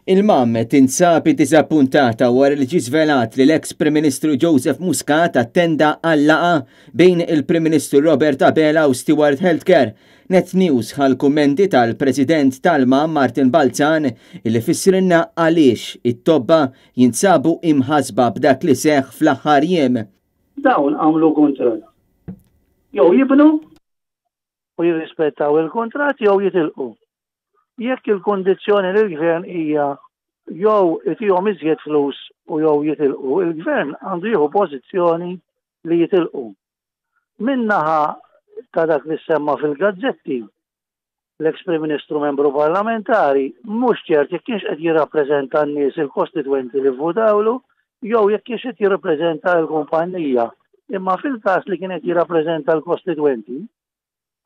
Il-MAM tinsab iddiżappuntata wara li ġie żvelat li l-eks Prim Ministru Joseph Muscat attenda għal laqgħa bejn il-Prim Ministru Robert Abela u Steward Healthcare. Net News ħa l-kummenti tal-President tal-MAM Martin Balzan illi fissrilna għaliex it-tobba jinsabu imħassba b'dak li seħħ fl-aħħar jiem. Dawn għamlu kuntratt. Jew jibnu u jirrispettaw il-kuntratt jew jitilqu. Jekk il-kundizzjoni lill-Gvern hija jew itihom iżjed flus u jew jitilqu, il-Gvern għandu jieħu pożizzjoni li jitilqu. Min-naħa ta' dak li semma fil-gazzetti, l-eks Prim Ministru membru parlamentari mhux ċert jekk kienx qed jirrappreżenta n-nies il-kostitwenti li vvutawlu jew jekk kienx qed jirrappreżenta l-kumpanija. Imma fil-każ li kien qed jirrappreżenta l-kostitwenti,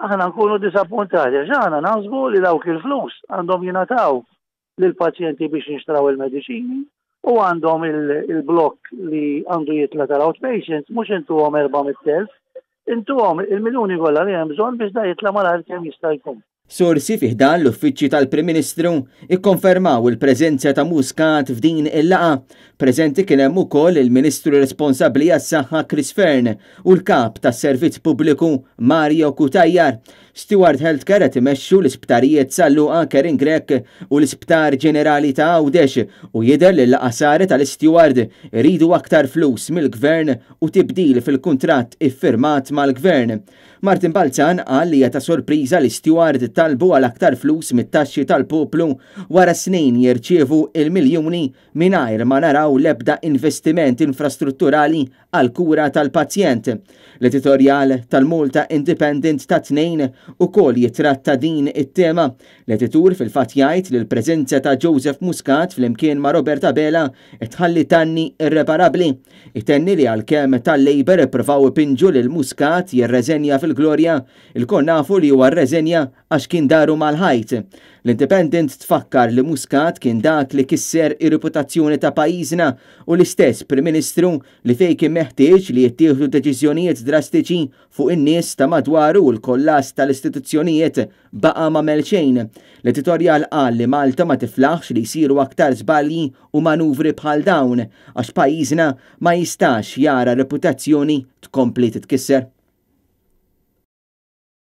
Aħna nkunu diżappuntati għax aħna naħsbu li dawk il-flus għandhom jingħataw lill-pazjenti biex jinxtraw il-mediċini u għandhom il-blokk li għandu jitla tal-outpatients mhux intuhom 400,000, intuhom il-miljuni kollha li hemm bżonn biex da jitla malajr kemm jista' jkun. Sorsi fi ħdan l-Uffiċċju tal-Prim Ministru ikkonfermaw il-preżenza ta' Muscat f'din il-laqgħa. Preżenti kien hemm ukoll il-Ministru responsabbli għas-Saħħa Chris Fearne u l-Kap tas-Servizz Pubbliku Mario Cutajar. Steward Healthcare qed imexxu l-isptarijiet San Luqa, Karen Grech u l-Isptar Ġenerali ta' Għawdex u jidher li l-laqgħa saret għal Steward iridu aktar flus mill-Gvern u tibdil fil-kuntratt iffirmat mal-Gvern. Martin Balzan qal li hija ta' sorpriża li Steward talbu għal aktar flus mit-taxxi tal-poplu wara snin jirċievu il-miljuni mingħajr ma naraw l-ebda investiment infrastrutturali għall-kura tal-pazjent. L-editorjal tal-Malta Independent tat-Tnejn ukoll jitratta din it-tema. L-editur fil-fatt jgħid li l-preżenza ta' Joseph Muscat flimkien ma' Robert Abela qed tħalli danni irreparabbli. Itenni li għalkemm tal-Labour ippruvaw ipinġu lil Muscat jirreżenja fil-glorja, ilkoll nafu li huwa rreżenja għax kien daru mal-ħajt. L-Independent tfakkar li Muscat kien dak li kisser ir-reputazzjoni ta' pajjiżna u l-istess Prim Ministru li fejn kien meħtieġ li jittieħdu deċiżjonijiet drastiċi fuq in-nies ta' madwaru u l-kollass tal-istituzzjonijiet baqa' m'għamel xejn. L-editorjal qal li Malta ma tiflaħx li jsiru aktar żbalji u manuvri bħal dawn għax pajjiżna ma jistax jara reputazzjoni tkompli titkisser.